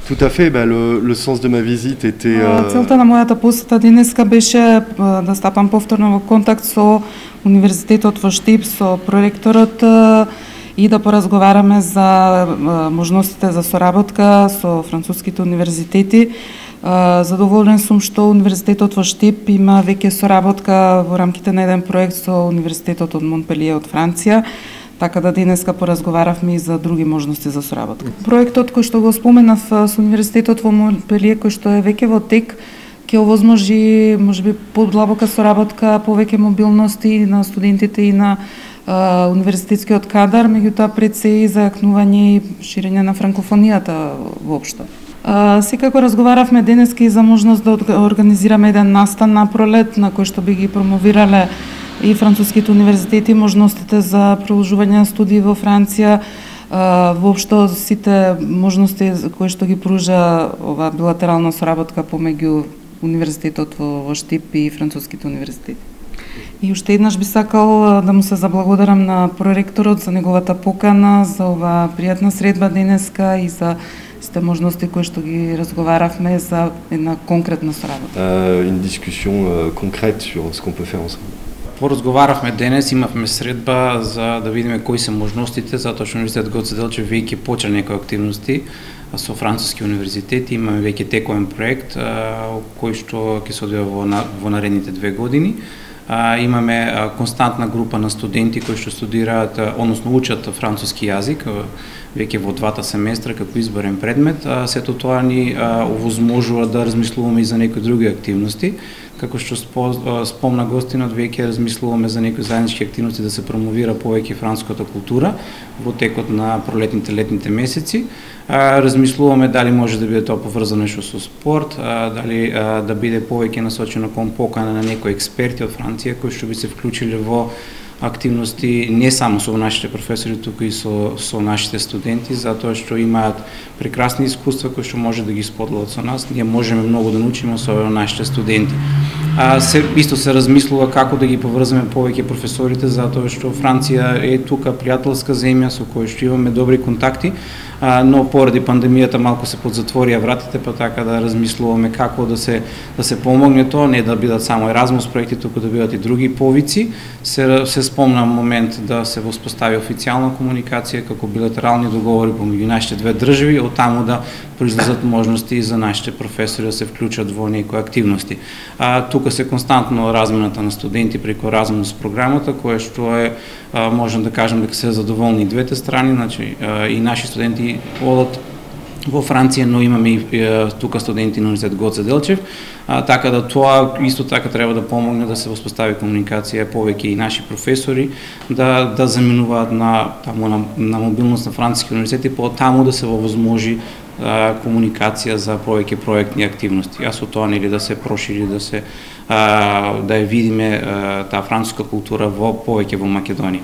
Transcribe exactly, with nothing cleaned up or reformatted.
Tout à fait, bah, le, le sens de ma visite était... Euh... Целта на мојата посета денеска беше да стапам повторно во контакт со Универзитетот во Штип, со проректорот и да поразговараме за можностите за соработка со француските универзитети. Задоволен сум што Универзитетот во Штип има веќе соработка во рамките на еден проект со Универзитетот од Монпелие од Франција, така да денеска поразговаравме и за други можности за соработка. Проектот кој што го споменав со Универзитетот во Монпелие, кој што е веќе во тек, ќе овозможи можеби подлабока соработка, повеќе мобилности на студентите и на Uh, универзитетскиот кадар, меѓутоа пред се и зајакнување и ширење на франкофонијата воопшто. Uh, секако разговаравме денеска и за можност да организираме еден настан на пролет, на кој што би ги промовирале и француските универзитети, можностите за продолжување на студии во Франција, uh, воопшто сите можности кои што ги пружа ова билатерална соработка помеѓу Универзитетот во, во Штип и француските универзитети. И уште еднаш би сакал да му се заблагодарам на проректорот за неговата покана, за ова пријатна средба денеска и за сите можности кои што ги разговаравме за една конкретна соработка. Uh, une discussion uh, concrète sur ce qu'on peut faire ensemble. Поразговаравме денес, имавме средба за да видиме кои се можностите, затоа што Универзитет Гоце Делчев веќе почна некои активности со француски универзитети, имаме веќе текоен проект кој што ќе се одвива во, во наредните две години. Uh, имаме uh, константна група на студенти кои што студираат, uh, односно учат француски јазик uh, веќе во двата семестра како изборен предмет. Uh, сето тоа ни uh, овозможува да размислуваме и за некои други активности. Како што спо, uh, спомна гостинот, веќе размислуваме за некои заеднички активности да се промовира повеќе француската култура во текот на пролетните летните месеци. Uh, размислуваме дали може да биде тоа поврзано нешто со спорт, uh, дали uh, да биде повеќе насочено кон покана на некои експерти од Франција кои што би се вклучиле во активности не само со нашите професори, туку и со, со нашите студенти, затоа што имаат прекрасни искуства кои што може да ги споделат со нас. Ние можеме многу да научиме особено нашите студенти. А, се, исто се размислува како да ги поврземе повеќе професорите, затоа што Франција е тука пријателска земја со која што имаме добри контакти, а, но поради пандемијата малку се подзатворија вратите, па така да размислуваме како да се да се помогне тоа, не да бидат само Еразмус проекти, туку да бидат и други повици. Се се спомна момент да се воспостави официјална комуникација како билатерални договори помеѓу нашите две држави, од таму да произлезат можности и за нашите професори да се вклучат во некои активности. А, тука се константно размената на студенти преку Еразмус програмата, која што е, а, можам да кажам дека се задоволни и двете страни, значи а, и наши студенти одат во Франција, но имаме и е, тука студенти на Универзитет Гоце Делчев, а, така да тоа исто така треба да помогне да се воспостави комуникација повеќе и наши професори да да заминуваат на таму на, на мобилност на француски универзитети, по таму да се возможи а, комуникација за повеќе проектни активности. А со тоа нели да се прошири, да се а, да ја видиме а, таа француска култура во повеќе во Македонија.